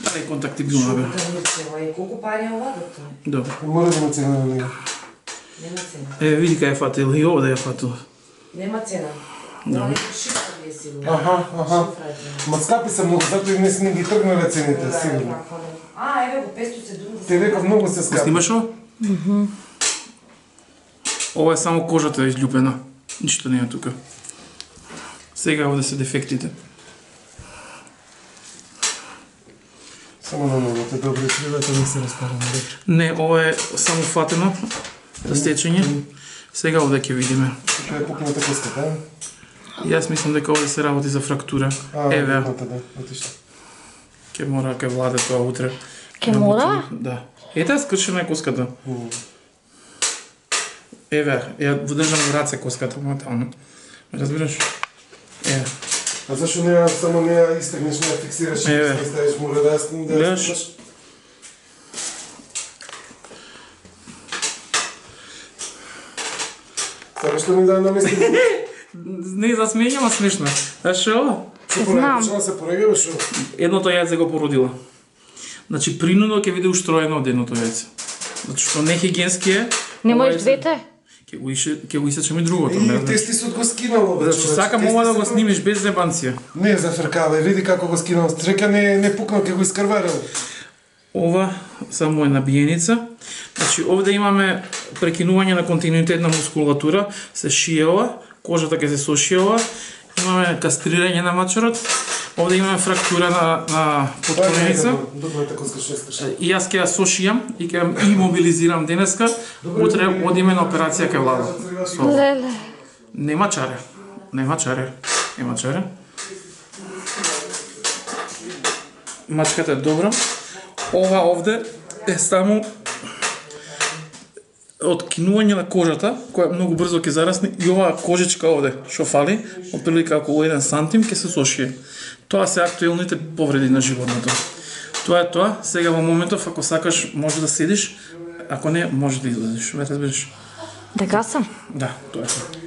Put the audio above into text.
Ај контактибилна бе. Колку пари е ова, доктор? Добро. Мора да има цена на него. Нема цена. Види кај е фатил и овде е фатил. Нема цена. Ова нека шифра ви е сигурно. Аха. Ма скапи се многу, затоа и не ги тргнале цените, сигурно. Еве го 570. Ти реков многу се скапи. Снимаш ово? Ова е само кожата изљупена. Ништо не е тука. Сега овде се дефектите. Само на ногата, добре, кривата не се распараме. Не, ова е само фатено за стечење. Сега овде ќе видиме. Тука е пукната коската, а? Јас мислам дека овде се работи за фрактура. Еве, ќе мора ке владе тоа утре. Ке мора? Да. Ете, скршена е коската. Еве, ја водржам во раце коската моментално. Разбираш? Еве. А зашо не само не ја истегнеш, не ја фиксираш и не ставиш мора да ја снимаш? Сакаш што ми да намести? Не за смење, ма смешно. Знаеш што? Знам. Почна се пореѓава шо? Едното јајце го породила. Значи принудно ќе биде устроено од едното јајце. Затоа што нехигиенски е. Не можеш двете? Ќе го исечам и другото. И тестисот го скинало, бе. Зашто сакам ова да го снимиш без зебанција. Не зафркавај, види како го скинал. Чека не пукнал, ќе го искрварил. Ова само е набиеница. Значи овде имаме прекинување на континуитет на мускулатура, се шие ова, кожата ќе се сошие ова. Имаме кастрирање на мачорот. Овде имаме фрактура на подколеница. И јас ќе ја сошијам и ќе ја имобилизирам денеска. Утре одиме на операција кај Владо. Леле. Нема чаре. Нема чаре. Мачката е добра. Ова овде е само откинување на кожата, која многу брзо ќе зарасне, и оваа кожичка овде, што фали, отприлика околу 1 сантим, ќе се сошие. Тоа се актуелните повреди на животното. Тоа е тоа. Сега во моментов, ако сакаш, може да седиш, ако не, може да излезеш. Ме разбираш? Дека сам? Да, тоа е тоа.